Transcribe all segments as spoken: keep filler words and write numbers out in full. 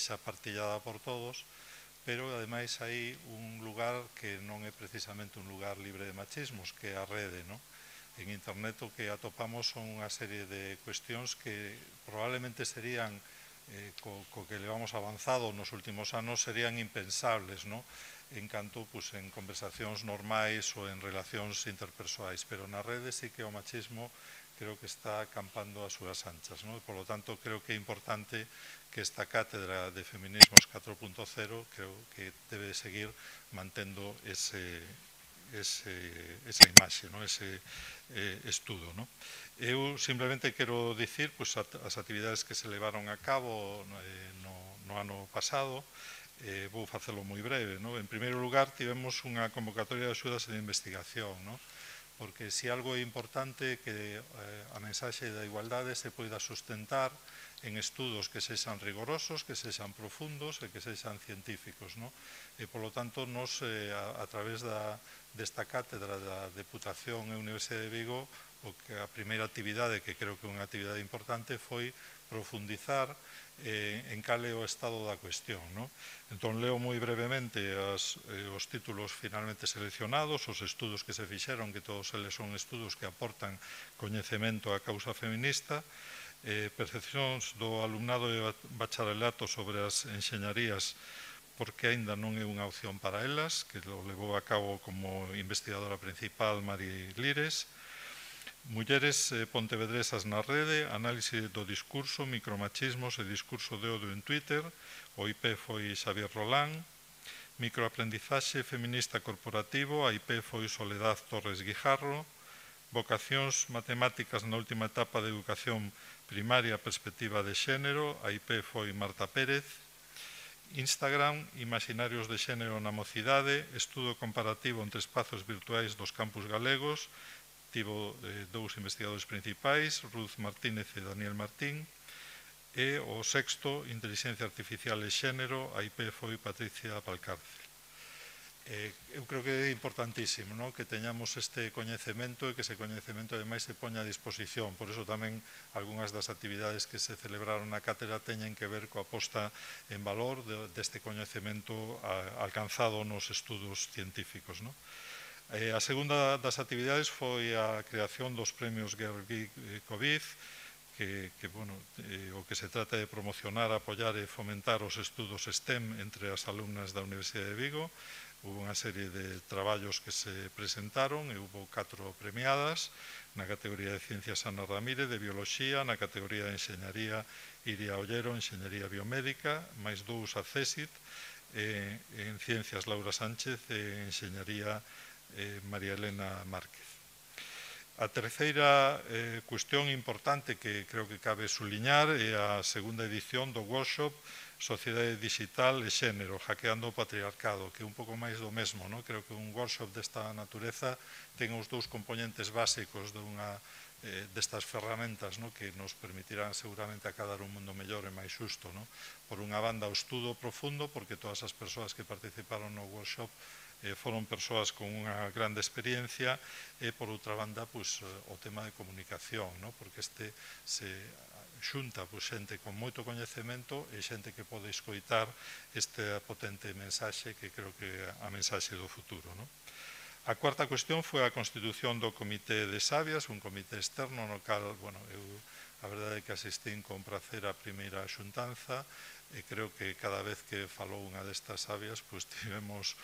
xa partillada por todos, pero ademais hai un lugar que non é precisamente un lugar libre de machismos, que é a rede, non? En internet o que atopamos son unha serie de cuestións que probablemente serían, eh, co, co que levamos avanzado nos últimos anos, serían impensables, non? En canto pues, en conversacións normais ou en relacións interpersoais, pero na rede sí que o machismo creo que está acampando as súas anchas, non? Por lo tanto, creo que é importante que esta cátedra de feminismos catro punto cero creo que debe seguir mantendo ese, ese, esa imaxe, non? Ese eh, estudo, non? Eu simplemente quero dicir pues, as actividades que se levaron a cabo eh, no, no ano pasado. Eh, vou facelo moi breve, non? En primeiro lugar, tivemos unha convocatoria de axudas de investigación, non? Porque se algo é importante que eh, a mensaxe da igualdade se poida sustentar en estudos que sexan rigorosos, que sexan profundos e que sexan científicos, non? E, polo tanto, nos, eh, a, a través da, desta cátedra da Deputación e Universidade de Vigo, o que a primeira actividade, que creo que é unha actividade importante, foi profundizar eh, en cal é o estado da cuestión, non? Entón, leo moi brevemente as, eh, os títulos finalmente seleccionados, os estudos que se fixeron, que todos eles son estudos que aportan coñecemento á causa feminista, eh, percepcións do alumnado de bacharelato sobre as enxeñarías porque aínda non é unha opción para elas, que lo levou a cabo como investigadora principal Mari Lires. Mulleres eh, pontevedresas na rede, análise do discurso, micromachismos e discurso de odio en Twitter. O I P foi Xavier Rolán. Microaprendizaxe feminista corporativo, a I P foi Soledad Torres Guijarro. Vocacións matemáticas na última etapa de educación primaria, perspectiva de xénero, a I P foi Marta Pérez. Instagram, imaginarios de xénero na mocidade, estudo comparativo entre espazos virtuais dos campus galegos. Tivo eh, dous investigadores principais, Ruth Martínez e Daniel Martín, e o sexto, Inteligencia Artificial e Xénero, a I P foi Patricia Valcárcel. Eh, eu creo que é importantísimo, non? Que teñamos este coñecemento e que ese coñecemento ademais se poña a disposición. Por iso tamén algunhas das actividades que se celebraron na cátedra teñen que ver coa posta en valor de, deste coñecemento a, alcanzado nos estudos científicos, non? Eh, a segunda das actividades foi a creación dos premios Gergely Covid, que, que bueno, eh, o que se trata de promocionar, apoiar e fomentar os estudos STEM entre as alumnas da Universidade de Vigo. Hubo unha serie de traballos que se presentaron e hubo catro premiadas na categoría de Ciencias Ana Ramírez, de Bioloxía, na categoría de Enxeñaría Iria Ollero, Enxeñaría Biomédica, máis dous a CESIT, eh, en Ciencias Laura Sánchez e Enxeñaría eh, María Elena Márquez. A terceira eh, cuestión importante que creo que cabe suliñar é a segunda edición do workshop Sociedade Digital e Xénero, hackeando o patriarcado, que é un pouco máis do mesmo, non? Creo que un workshop desta natureza ten os dous componentes básicos de unha, eh, destas ferramentas, non? Que nos permitirán seguramente acadar un mundo mellor e máis xusto, non? Por unha banda, o estudo profundo, porque todas as persoas que participaron no workshop eh, foron persoas con unha grande experiencia, e por outra banda, pues, o tema de comunicación, non? Porque este se xunta pues, xente con moito coñecemento e xente que pode escoitar esta potente mensaxe que creo que é a mensaxe do futuro, non? A cuarta cuestión foi a constitución do Comité de Sabias, un comité externo no cal, bueno, eu a verdade é que asistín con prazer a primeira xuntanza e creo que cada vez que falou unha destas sabias, pues tivemos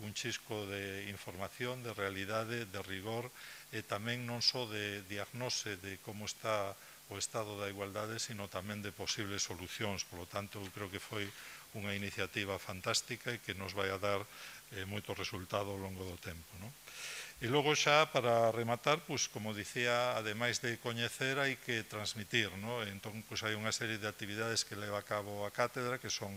un chisco de información, de realidade, de rigor e tamén non só de diagnose de como está o estado da igualdade, sino tamén de posibles solucións. Por lo tanto, eu creo que foi unha iniciativa fantástica e que nos vai a dar eh, moito resultado ao longo do tempo, non? E logo xa, para rematar, pues, como dicía, ademais de coñecer, hai que transmitir, non? Entón, pues, hai unha serie de actividades que leva a cabo a cátedra que son,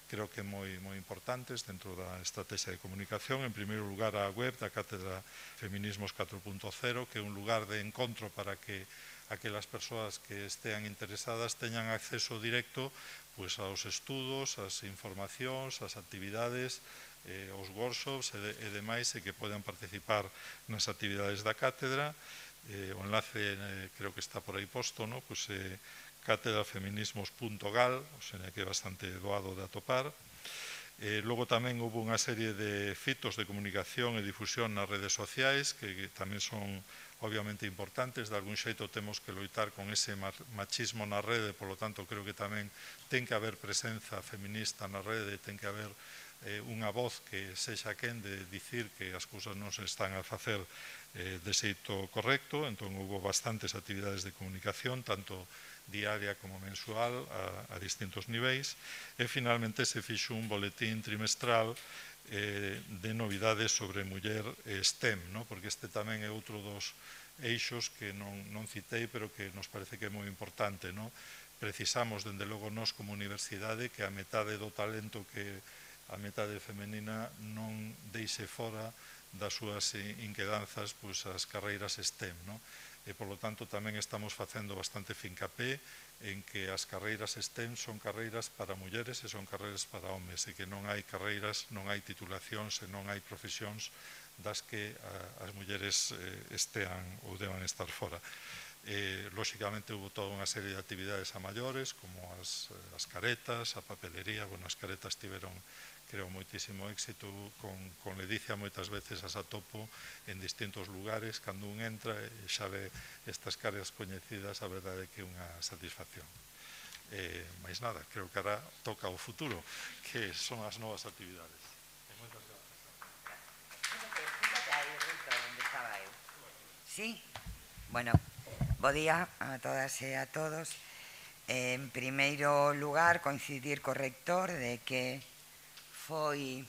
creo que moi, moi importantes dentro da estrategia de comunicación. En primeiro lugar, a web da Cátedra Feminismos catro punto cero, que é un lugar de encontro para que aquelas persoas que estean interesadas teñan acceso directo pues, aos estudos, ás informacións, ás actividades, eh, os workshops e, de, e demais, e que podan participar nas actividades da cátedra. Eh, o enlace eh, creo que está por aí posto, ¿no? Pues, eh, cátedra feminismos punto gal, o sea que é bastante doado de atopar. Eh, logo tamén houve unha serie de fitos de comunicación e difusión nas redes sociais que, que tamén son obviamente importantes. De algún xeito temos que loitar con ese machismo na rede, polo tanto creo que tamén ten que haber presenza feminista na rede, ten que haber eh, unha voz que sexa quen de dicir que as cousas non se están a facer eh, de xeito correcto. Entón houve bastantes actividades de comunicación, tanto diaria como mensual, a, a distintos niveis, e finalmente se fixo un boletín trimestral eh, de novidades sobre muller e STEM, no? Porque este tamén é outro dos eixos que non, non citei, pero que nos parece que é moi importante, no? Precisamos, dende logo, nós como universidade, que a metade do talento que a metade femenina non deixe fora das súas inquedanzas pois, as carreiras STEM, no? E, polo tanto, tamén estamos facendo bastante fincapé en que as carreiras STEM son carreiras para mulleres e son carreiras para homes, e que non hai carreiras, non hai titulacións e non hai profesións das que as mulleres estean ou deban estar fora. Eh, lóxicamente, houve toda unha serie de actividades a maiores, como as, as caretas, a papelería. Bueno, as caretas tiveron, creo, moitísimo éxito. Con, con Ledicia moitas veces as atopo en distintos lugares. Cando un entra e xa ve estas caras coñecidas, a verdade é que é unha satisfacción. Eh, máis nada, creo que ahora toca o futuro, que son as novas actividades. Moitas gracias. Sí, bueno, bo día a todas e a todos. En primeiro lugar, coincidir co rector de que foi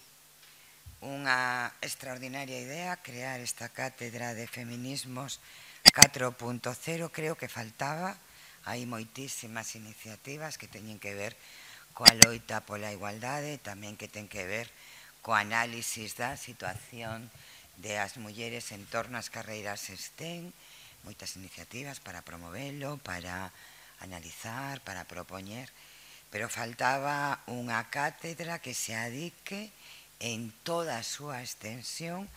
unha extraordinaria idea crear esta cátedra de feminismos catro punto cero. Creo que faltaba, hai moitísimas iniciativas que teñen que ver coa loita pola igualdade, tamén que ten que ver co análisis da situación de as mulleres en torno ás carreiras STEM, moitas iniciativas para promovelo, para analizar, para propoñer, pero faltaba unha cátedra que se adique en toda a súa extensión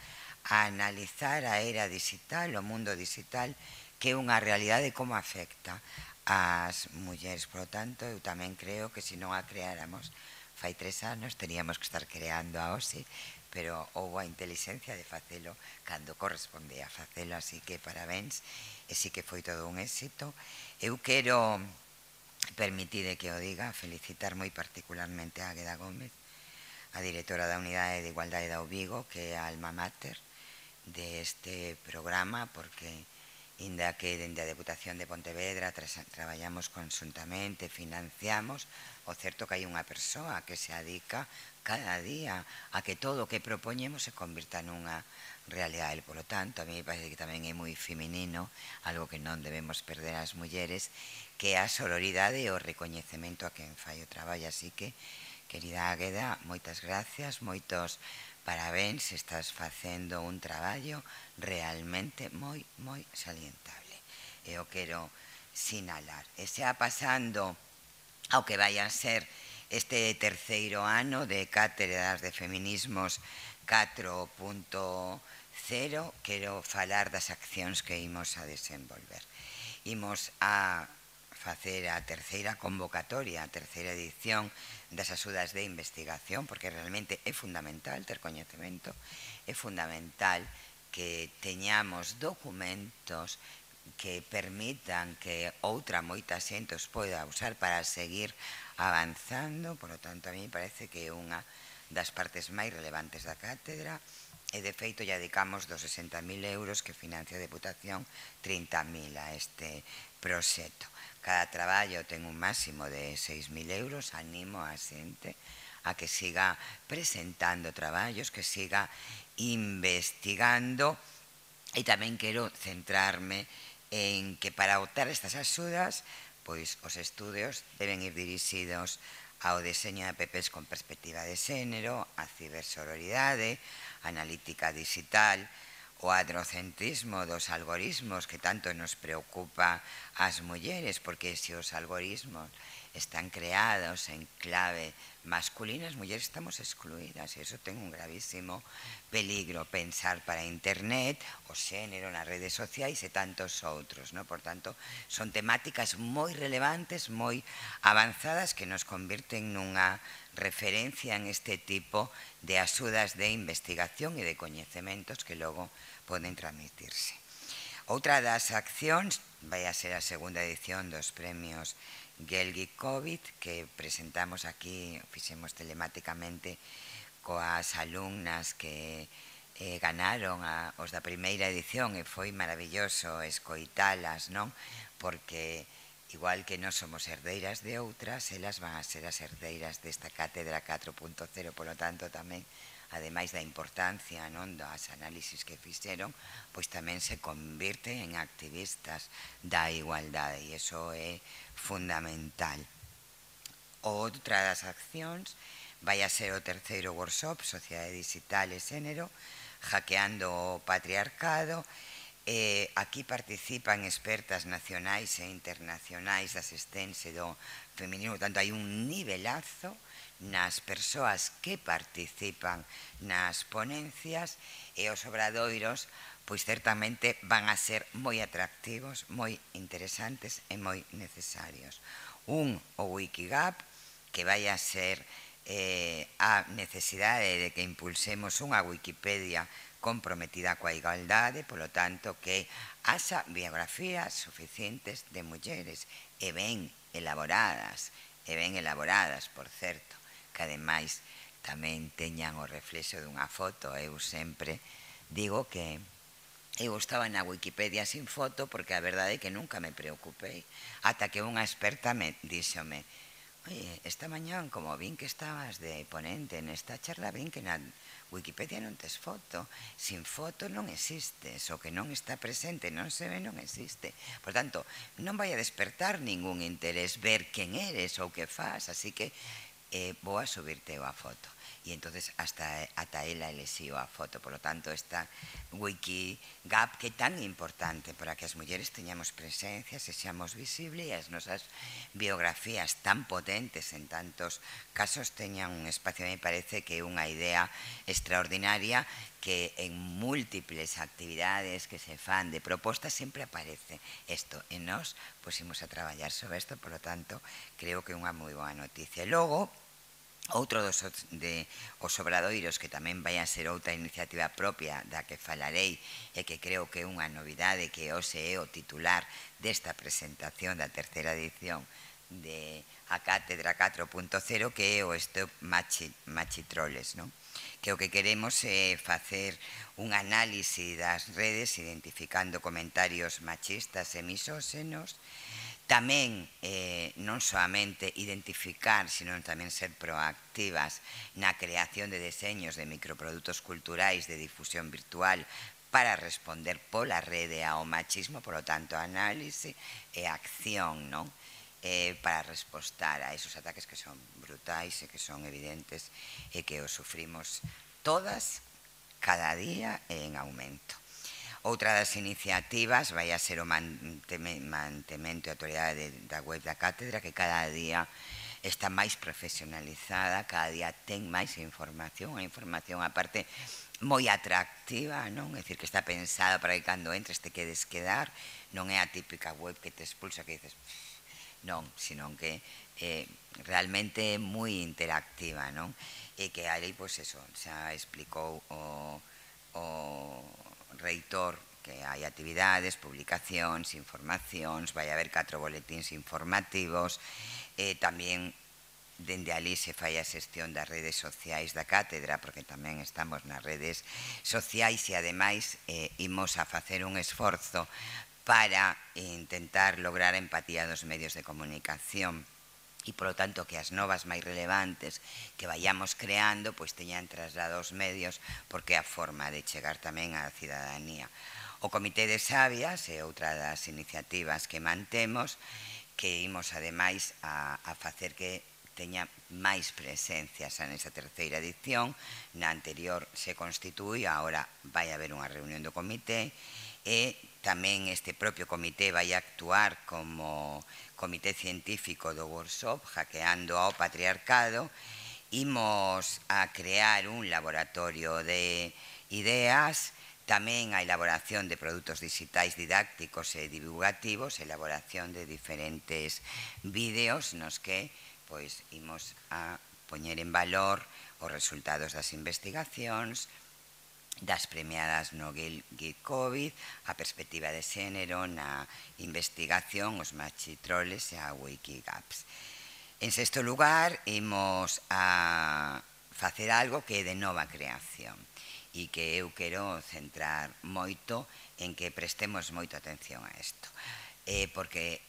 a analizar a era digital, o mundo digital, que é unha realidade como afecta ás mulleres. Por lo tanto, eu tamén creo que se non a creáramos fai tres anos, teríamos que estar creando a OSI, pero houve a inteligencia de facelo cando corresponde a facelo, así que parabéns, e sí que foi todo un éxito. Eu quero, permitide que o diga, felicitar moi particularmente a Águeda Gómez, a directora da Unidade de Igualdade da U Vigo, que é a alma mater deste programa, porque inda que dende a Deputación de Pontevedra traballamos conjuntamente, financiamos, o certo que hai unha persoa que se adica cada día a que todo o que propoñemos se convirta nunha realidade. Por lo tanto, a mí me parece que tamén é moi feminino, algo que non debemos perder as mulleres, que é a sororidade e o recoñecemento a quen fai o traballo. Así que, querida Águeda, moitas gracias, moitos parabéns, estás facendo un traballo realmente moi, moi salientable. E eu quero sinalar. E xa pasando ao que vai a ser este terceiro ano de cátedras de feminismos catro punto cero, quero falar das accións que imos a desenvolver. Imos a facer a terceira convocatoria, a terceira edición das axudas de investigación, porque realmente é fundamental ter coñecemento, é fundamental que teñamos documentos que permitan que outra moita xente os poida usar para seguir avanzando. Por lo tanto, a mí me parece que é unha das partes máis relevantes da cátedra, e de feito ya dedicamos dos sesenta mil euros que financia a Deputación, trinta mil a este proxecto. Cada traballo ten un máximo de seis mil euros. Animo a xente a que siga presentando traballos, que siga investigando, e tamén quero centrarme en que para optar estas axudas, pois os estudios deben ir dirixidos ao deseño de apps con perspectiva de xénero, a cibersororidade, a analítica digital, o androcentrismo dos algoritmos que tanto nos preocupa ás mulleres, porque se os algoritmos están creados en clave masculina, as mulleres estamos excluídas e iso ten un gravísimo peligro. Pensar para internet, o xénero nas redes sociais e tantos outros, no? Por tanto, son temáticas moi relevantes, moi avanzadas que nos convirten nunha referencia en este tipo de axudas de investigación e de coñecementos que logo poden transmitirse. Outra das accións vai a ser a segunda edición dos premios Gelgi COVID, que presentamos aquí, fixemos telemáticamente coas alumnas que eh, ganaron a, os da primeira edición e foi maravilloso escoitalas, non? Porque igual que non somos herdeiras de outras, elas van a ser as herdeiras desta cátedra catro punto cero, polo tanto tamén, ademais da importancia, non, das análisis que fixeron, pois tamén se convirten en activistas da igualdade e iso é fundamental. Outra das accións vai a ser o terceiro workshop, Sociedade Digital e Xénero, hackeando o patriarcado. Eh, aquí participan expertas nacionais e internacionais da asistencia do feminino, por tanto hai un nivelazo nas persoas que participan nas ponencias e os obradoiros pois certamente van a ser moi atractivos, moi interesantes e moi necesarios. Un, o Wikigap, que vai a ser eh, a necesidade de que impulsemos unha Wikipedia comprometida coa igualdade, polo tanto que haxa biografías suficientes de mulleres e ben elaboradas, e ben elaboradas, por certo, que ademais tamén teñan o reflexo dunha foto. Eu sempre digo que eu estaba na Wikipedia sin foto porque a verdade é que nunca me preocupei ata que unha experta me díxome: oye, esta mañán como vin que estabas de ponente nesta charla, vin que na Wikipedia non tes foto. Sin foto non existes, o que non está presente non se ve, non existe. Por tanto, non vai a despertar ningún interés ver quen eres ou que faz, así que eh, vou a subirte a foto. E entonces hasta ata ela elexiu a foto. Por lo tanto, esta Wikigap que é tan importante para que as mulleres teñamos presencia, se seamos visibles e as nosas biografías tan potentes en tantos casos teñan un espacio. Me parece que é unha idea extraordinaria que en múltiples actividades que se fan de propostas sempre aparece isto e nós pusimos a traballar sobre isto. Por lo tanto, creo que é unha moi boa noticia. E logo, outro dos de os obradoiros, que tamén vai a ser outra iniciativa propia da que falarei e que creo que é unha novidade, que hoxe é o titular desta presentación da terceira edición de a Cátedra catro punto cero, que é o Stop Machi, Machitroles, non? Que o que queremos é facer un análise das redes identificando comentarios machistas e misóxenos. Tamén eh, non soamente identificar, sino tamén ser proactivas na creación de deseños de microprodutos culturais de difusión virtual para responder pola rede ao machismo, por lo tanto, análise e acción, non? Eh, para respostar a esos ataques que son brutais e que son evidentes e que os sufrimos todas cada día e en aumento. Outra das iniciativas vai a ser o mantemento e autoridade da web da cátedra, que cada día está máis profesionalizada, cada día ten máis información, a información aparte moi atractiva, non? É dicir, que está pensada para que cando entres te quedes quedar, non é a típica web que te expulsa, que dices non, sino que eh, realmente é moi interactiva, non? E que ali, pois eso, xa explicou o, o reitor que hai actividades, publicacións, informacións, vai haber catro boletíns informativos, e tamén dende ali se fai a xestión das redes sociais da cátedra, porque tamén estamos nas redes sociais e ademais eh, imos a facer un esforzo para intentar lograr a empatía dos medios de comunicación e, polo tanto, que as novas máis relevantes que vayamos creando pois teñan traslado aos medios, porque é a forma de chegar tamén á cidadanía. O Comité de Sabias é outra das iniciativas que mantemos, que imos ademais a, a facer que teña máis presencia xa nesa terceira edición. Na anterior se constitui, agora vai haber unha reunión do comité, e tamén este propio comité vai actuar como comité científico do workshop Hackeando ao Patriarcado. Imos a crear un laboratorio de ideas, tamén a elaboración de produtos digitais didácticos e divulgativos, elaboración de diferentes vídeos nos que pois imos a poñer en valor os resultados das investigacións, das premiadas no Geek COVID, a perspectiva de xénero na investigación, os machitroles e a Wikigaps. En sexto lugar, imos a facer algo que é de nova creación e que eu quero centrar moito en que prestemos moita atención a isto, eh, porque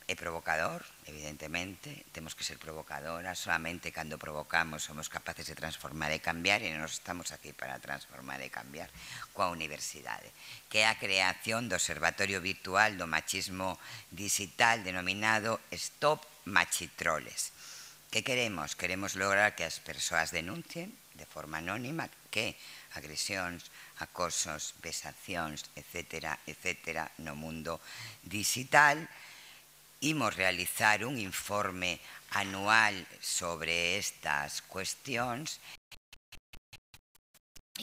é provocador, evidentemente, temos que ser provocadoras, solamente cando provocamos somos capaces de transformar e cambiar, e nos estamos aquí para transformar e cambiar coa universidade, que é a creación do Observatorio Virtual do Machismo Digital denominado Stop Machitroles. Que queremos? Queremos lograr que as persoas denuncien de forma anónima que agresións, acosos, vexacións, etcétera, etcétera, no mundo digital. Imos realizar un informe anual sobre estas cuestións.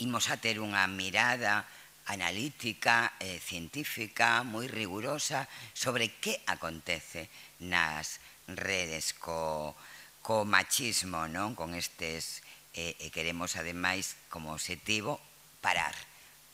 Imos a ter unha mirada analítica, eh, científica, moi rigurosa sobre que acontece nas redes co, co machismo, non? Con estes, eh, e queremos ademais como objetivo parar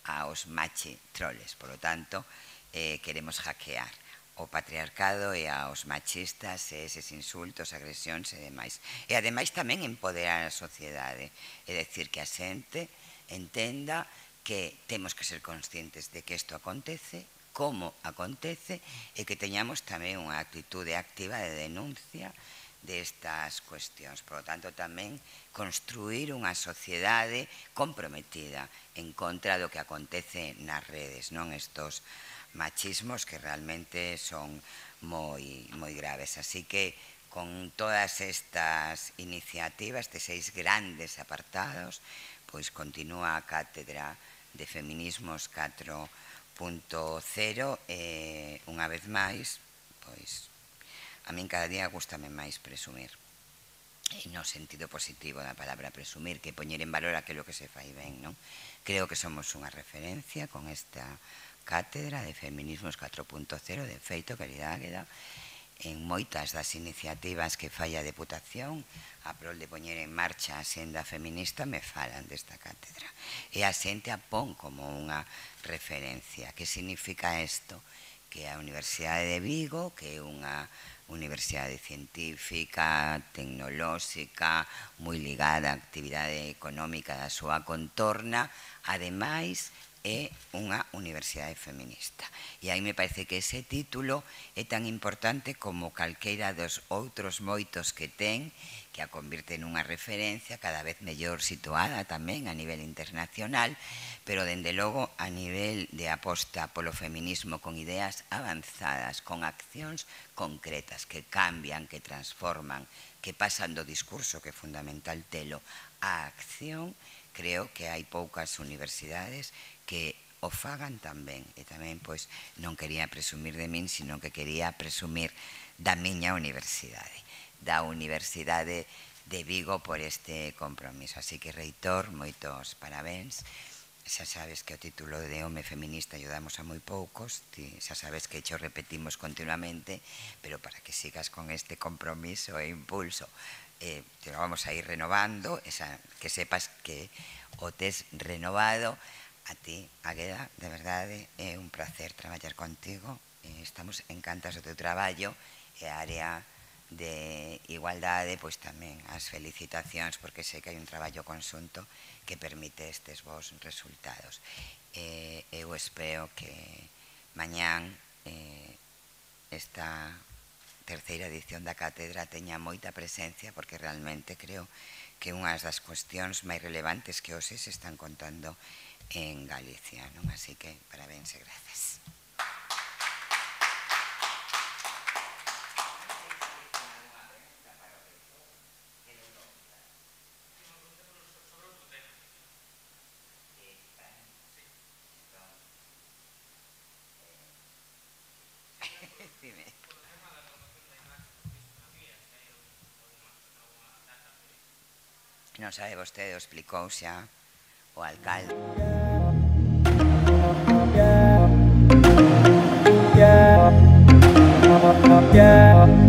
aos machitroles. Por lo tanto, eh, queremos hackear o patriarcado e aos machistas e eses insultos, agresións e demais. E ademais tamén empoderar a sociedade, é dicir, que a xente entenda que temos que ser conscientes de que isto acontece, como acontece, e que teñamos tamén unha actitude activa de denuncia destas cuestións. Por lo tanto, tamén construir unha sociedade comprometida en contra do que acontece nas redes, non estos machismos que realmente son moi, moi graves. Así que, con todas estas iniciativas, estes seis grandes apartados, pois continúa a Cátedra de Feminismos catro punto cero e, unha vez máis, pois, a min cada día gústame máis presumir, e no sentido positivo da palabra presumir, que poñer en valor aquilo que se fai ben, non? Creo que somos unha referencia con esta Cátedra de Feminismos catro punto cero, de feito, querida Águeda, en moitas das iniciativas que fai a Deputación a prol de poñer en marcha a senda feminista me falan desta cátedra, e a xente a pon como unha referencia. Que significa isto? Que a Universidade de Vigo, que é unha universidade científica, tecnolóxica, moi ligada á actividade económica da súa contorna, ademais é unha universidade feminista. E aí me parece que ese título é tan importante como calqueira dos outros moitos que ten, que a convirte nunha referencia cada vez mellor situada tamén a nivel internacional, pero dende logo a nivel de aposta polo feminismo con ideas avanzadas, con accións concretas que cambian, que transforman, que pasan do discurso, que é fundamental telo, á acción. Creo que hai poucas universidades que o fagan tamén, e tamén pois non quería presumir de min, sino que quería presumir da miña universidade, da Universidade de Vigo, por este compromiso. Así que, reitor, moitos parabéns. Xa sabes que o título de home feminista ayudamos a moi poucos, xa sabes que xo repetimos continuamente, pero para que sigas con este compromiso e impulso, eh, te lo vamos a ir renovando, esa, que sepas que o tes renovado. A ti, Águeda, de verdade, é un placer traballar contigo, eh, estamos encantados do teu traballo, e a área de igualdade, pois tamén as felicitacións, porque sei que hai un traballo conxunto que permite estes vos resultados. Eh, eu espero que mañán eh, esta terceira edición da cátedra teña moita presencia, porque realmente creo que unhas das cuestións máis relevantes que hoxe se están contando en Galicia, non? Así que, parabéns e grazas. non sabe vostede, explicou xa o alcalde. Yeah.